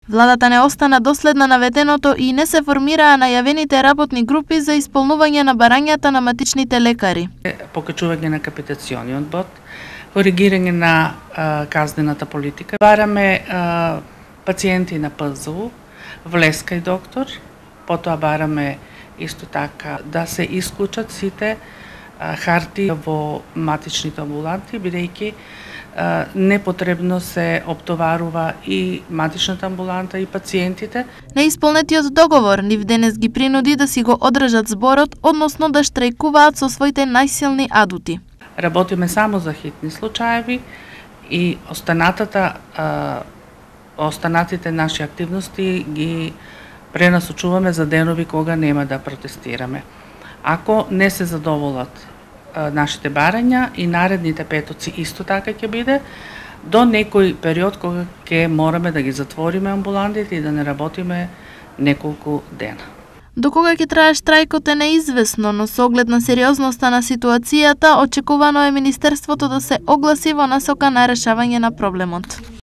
Владата не остана доследна на ветеното и не се формираа најавените работни групи за исполнување на барањата на матичните лекари. Покачување на капитациониот бод, коригирање на казнената политика. Бараме пациенти на ПЗУ, влеска и доктор, потоа бараме исто така да се исклучат сите харти во матичните амбуланти, бидејќи непотребно се оптоварува и матичната амбуланта и пациентите. Неисполнетиот договор нив денес ги принуди да си го одржат зборот, односно да штрајкуваат со своите најсилни адути. Работиме само за хитни случаеви и останатите наши активности ги пренасочуваме за денови кога нема да протестираме. Ако не се задоволат нашите барања и наредните петоци исто така ќе биде, до некој период кога ќе мораме да ги затвориме амбулантите и да не работиме неколку дена. До кога ќе трае штрајкот е неизвестно, но со оглед на сериозноста на ситуацијата, очекувано е Министерството да се огласи во насока на решавање на проблемот.